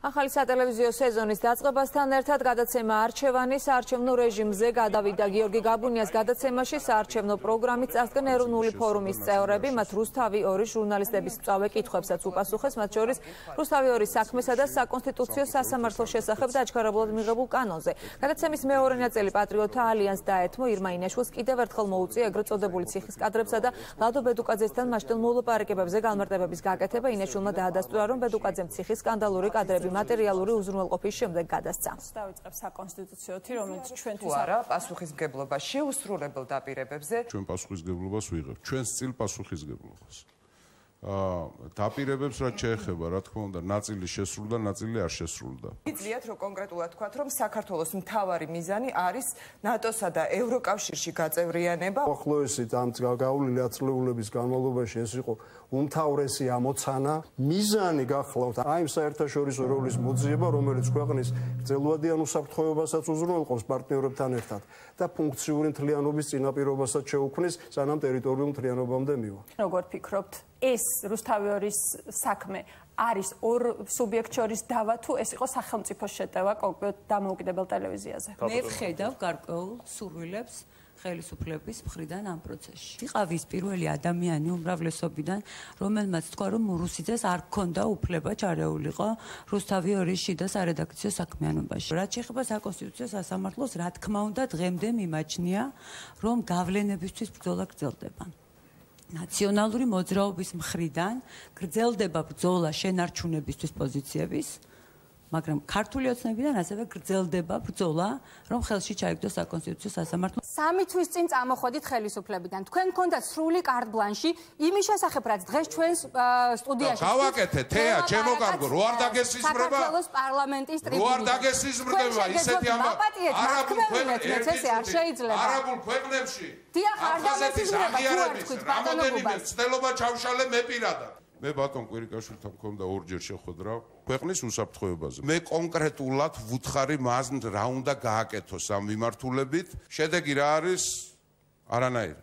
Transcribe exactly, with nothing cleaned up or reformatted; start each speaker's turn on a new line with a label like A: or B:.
A: ახალი სატელევიზიო სეზონის დაწყებასთან ერთად გადაცემა არჩევანი საარჩევნო რეჟიმზე გადავიდა. გიორგი გაბუნიას გადაცემაში საარჩევნო პროგრამით წარსდგენ ეროვნული ფორუმის წევრები, მათ რუსთავი ორი ჟურნალისტების მწვავე კითხვებსაც უპასუხეს, მათ შორის რუსთავი ორი საქმესა და საკონსტიტუციო სასამართლოს შესახებ დაჩქარებულად მიღებულ კანონზე. გადაცემის მეორე ნაწილი პატრიოტთა ალიანსს დაეთმო. ირმა ინაშვილს კიდევ ერთხელ მოუწია ეგრეთ წოდებული ციხის კადრებსა და ლადო ბედუკაძესთან მასშტილ მოლაპარაკებებზე განმარტებების გაკეთება. ინაშვილმა დაადასტურა, რომ ბედუკაძემ ციხის სკანდალური კადრები მატერიალური უზრუნველყოფის შემდეგ გადასცა.
B: დავიწყებ საკონსტიტუციოთი, რომელიც ჩვენთვის
C: არა პასუხისმგებლობა შეუსრულებელ დაპირებებზე.
D: ჩვენ პასუხისმგებლობას ვიღებთ. ჩვენს წილ პასუხისმგებლობას. აა დაპირებებს რაც შეეხება, რა თქმა უნდა, ნაწილი შესრულდა, ნაწილი არ შესრულდა.
C: იძლიათ რომ კონკრეტულად თქვათ, რომ საქართველოს მთავარი მიზანი არის ნატოსა და ევროკავშირში გაწევრიანება.
E: უახლოესი ამ გავლილი ათწლეულების განმავლობაში ეს იყო უმთავრესი ამოცანა. მიზანი გახლავთ აი იმ საერთაშორისო როლის მოძიება, რომელიც ქვეყნის გრძელვადიან უსაფრთხოებასაც უზრუნველყოფს პარტნიორებთან ერთად და ფუნქციური მთლიანობის წინაპირობასაც შეუქმნის, სანამ ტერიტორიულ მთლიანობამდე მივა.
B: როგორ ფიქრობთ, ეს რუსთავი ორის საქმე არის ორ სუბიექტ შორის დავა თუ ეს იყო სახელმწიფოს შეტევა კონკრეტ დამოუკიდებელ ტელევიზიაზე?
F: მე ვხედავ გარკვეულ სურვილებს ხელისუფლების მხრიდან ამ პროცესში. იყავის პირველი ადამიანი უმრავლესობიდან, რომელმაც თქვა, რომ რუსიძეს არ ჰქონდა უფლება ჩარეულიყო რუსთავი ორის შიდა სარედაქციო საქმიანობაში. რაც შეეხება საკონსტიტუციო სასამართლოს, რა თქმა უნდა, დღემდე მიმაჩნია, რომ გავლენებისთვის ბრძოლა გრძელდება. ნაციონალური მოძრაობის მხრიდან გრძელდება ბრძოლა შენარჩუნებისთვის პოზიციების, მაგრამ ქართული ოცნებიდან ასევე გრძელდება ბრძოლა, რომ ხელში ჩაიგდოს საკონსტიტუციო სასამართლო.
G: სამი თვის წინ წამოხვედით ხელისუფლებიდან. თქვენ გქონდათ სრული კარტ ბლანში იმის შესახებ, რაც დღეს ჩვენს სტუდიაში.
D: გავაკეთე, თეა, ჩემო კარგო, რო არ დაგესიზმრება?
G: საქართველოს პარლამენტის ტრიბუნაზე.
D: რო არ დაგესიზმრება ისეთი ამ
G: არაბულ ქვეყნებში ეს არ შეიძლება.
D: არაბულ ქვეყნებში.
G: დიახ, არ დაგესიზმრება, თუ არ თქვით
D: რამოდენიმე ცდელობა ჩავშალე მე პირადად. მე ბატონ კვირიკაშვილთან მქონდა ორჯერ შეხვედრა ქვეყნის უსაფრთხოებაზე. მე კონკრეტულად ვუთხარი მას რა უნდა გააკეთოს ამ მიმართულებით. შედეგი რა არის? არანაირი.